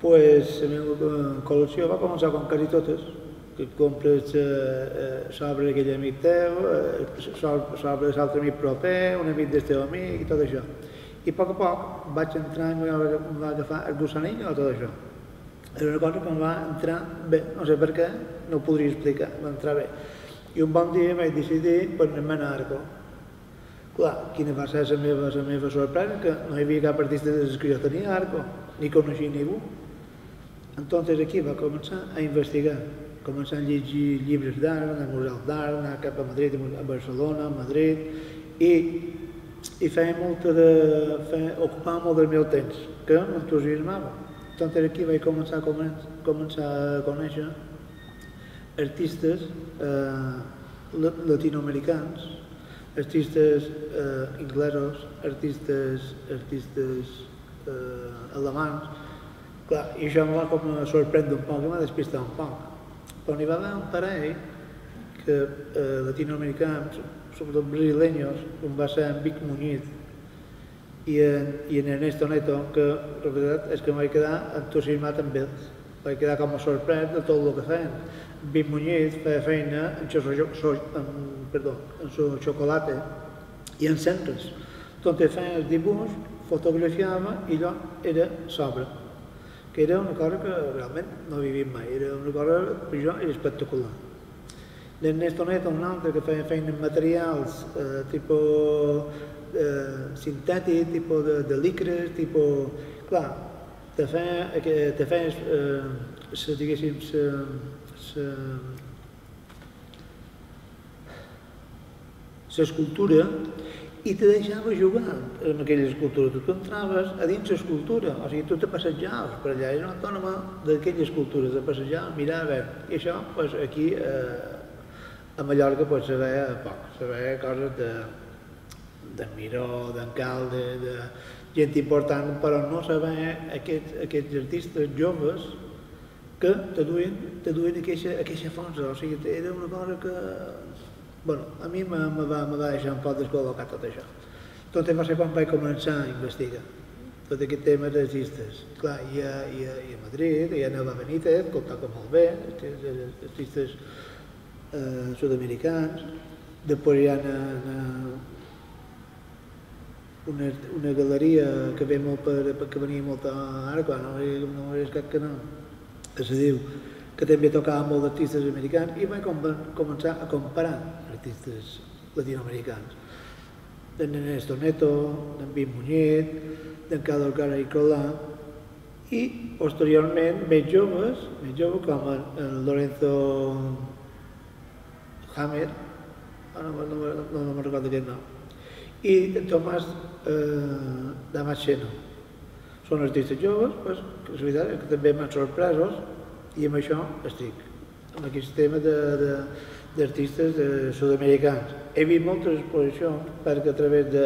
Pues la meva col·lecció va començar com quasi totes, que compres sobre aquell amic teu, sobre l'altre amic proper, un amic del teu amic i tot això. I a poc vaig entrar i em va agafar el gussanillo a tot això. Era una cosa que em va entrar bé, no sé per què, no ho podria explicar, em va entrar bé. I un bon dia vaig decidir per anar a Arco. Clar, quina va ser la meva sorpresa, que no hi havia cap artista des que jo tenia a Arco, ni coneixia ningú. Entonces aquí va començar a investigar, començar a llegir llibres d'art, anar a museus d'art, anar cap a Madrid, a Barcelona, a Madrid, i feia ocupava molt del meu temps, que m'entusiasmava. Entonces aquí vaig començar a conèixer artistes latinoamericans, artistes inglesos, artistes alemans. Clar, i això em va sorprendre un poc, em va despistar un poc. Però n'hi va haver un parell latinoamericans, sobretot brasileños, com va ser en Vic Muñiz i en Ernesto Neto, que la veritat és que em vaig quedar entusiasmat amb ells. Vaig quedar com a sorprès de tot el que feien. Vic Muñiz feia feina en su xocolata i en centres. Entonces feia el dibuix, fotografiava i allò era sobre. Que era una cosa que realment no havia vist mai, era una cosa, per jo, era espectacular. L'Ernesto Neto, un altre que feia feina en materials tipus sintètic, tipus de licres, tipus... Clar, te feies, diguéssim, l'escultura i te deixava jugar en aquella escultura. Tu entraves a dins l'escultura, o sigui, tu te passejaves per allà, era una autònoma d'aquella escultura, de passejar, mirar, a veure. I això, aquí, a Mallorca, se veia poc, se veia coses de Miró, d'en Calde, de gent important, però no se veia aquests artistes joves que te duien aquesta força, o sigui, era una cosa que... Bueno, a mi me va deixar un poc descol·locat tot això. Tot va ser quan vaig començar a investigar tot aquest tema d'artistes. Clar, hi ha Madrid, hi ha Neva Benítez, que ho toca molt bé, artistes sud-americans. Després hi ha una galeria que venia molt a Arco, no és cap que no, que se diu, que també tocava molt d'artistes americans, i vaig començar a comparar artistes latinoamericans. D'en Ernesto Neto, d'en Vic Muñiz, d'en Carlos Garaycola, i posteriorment més joves com en Lorenzo Hammer, no me'n recordo aquest nom, i en Tomàs Damasceno. Són artistes joves, que és veritat que també m'han sorpresos, i amb això estic, amb aquest tema d'artistes sud-americans. He vist moltes exposicions perquè a través de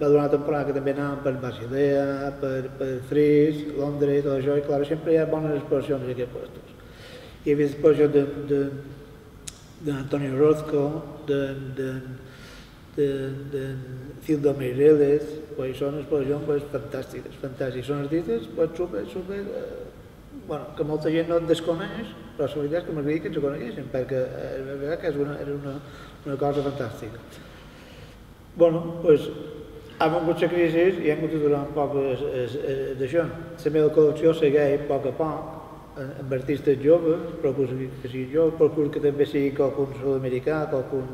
una temporada que també anàvem per Basilea, per Fris, Londres i tot això, i clar, sempre hi ha bones exposicions en aquests llocs. He vist exposicions d'Antonio Orozco, de Cildo Meireles, són exposicions fantàstiques, fantàstiques. Són artistes super, que molta gent no et desconeix, però la veritat és que m'agradaria que ens ho coneguessin, perquè la veritat que era una cosa fantàstica. Doncs, ha vingut la crisi i hem hagut de durar un poc d'això. La meva col·lecció segueix a poc amb artistes joves, procuro que sigui jove, procuro que també sigui qualcun sud-americà, qualcun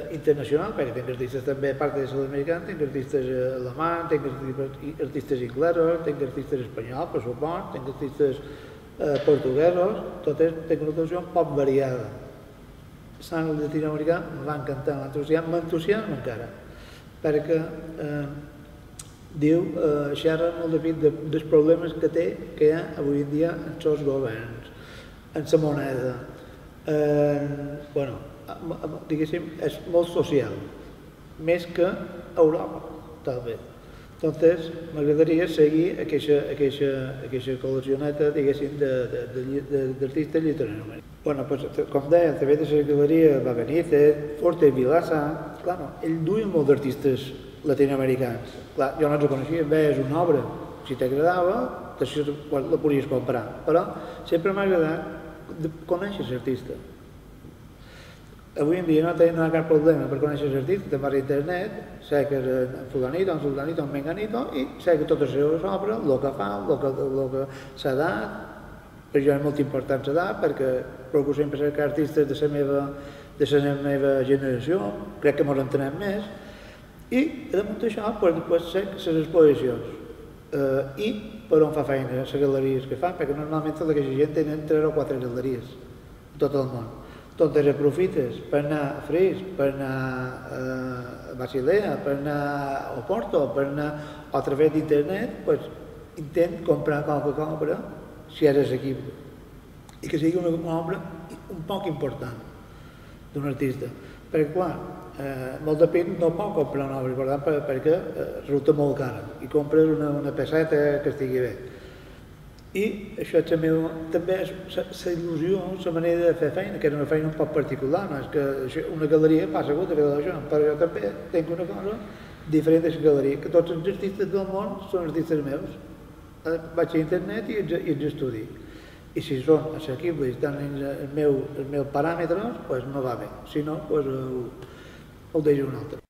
internacional, perquè tinc artistes també, a part de sud-americans, tinc artistes alemans, tinc artistes inglesos, tinc artistes espanyols, per suport, tinc artistes portuguesos, totes tinc una col·lecció un poc variada. Sant latinoamericà em va encantar, m'entusiasma encara, perquè xerra molt dels problemes que hi ha avui en dia en els governs, en la moneda, diguéssim, és molt social, més que a Europa, tal bé. Entonces, m'agradaria seguir aquesta col·leccioneta, diguéssim, d'artistes literàriament. Com deia, també de la galeria va Benítez, Forte Vilaça, clar, ell duia molt d'artistes latinoamericans. Clar, jo no els coneixia, veies una obra, si t'agradava, això la podries comprar, però sempre m'ha agradat conèixer l'artista. Avui en dia no hi ha cap problema per conèixer l'artista, te'n vas a internet, sé que és en fulanito, en sultanito, en menganito, i sé que tota la seva obra, el que fa, el que s'ha dat, per jo és molt important l'edat, perquè procuro sempre cercar artistes de la meva generació, crec que ens entenem més, i damunt d'això, després sé les exposicions i per on fa feina, les galeries que fan, perquè normalment tota aquesta gent tenen 3 o 4 galeries a tot el món. Totes aprofites per anar a Fris, per anar a Basilea, per anar a Oporto, per anar a través d'internet, intent comprar qualque obra, si és assequible, i que sigui una obra un poc important d'un artista. Perquè, clar, molt de pit no pot comprar una obra important perquè resulta molt cara i compres una pesseta que estigui bé. I això també és la il·lusió, la manera de fer feina, que és una feina un poc particular, no és que una galeria passa a fer això, però jo també tinc una cosa diferent de la galeria, que tots els artistes del món són artistes meus. Vaig a internet i els estudio. I si són assequibles i estan els meus paràmetres, doncs me va bé. Si no, ho deixo un altre.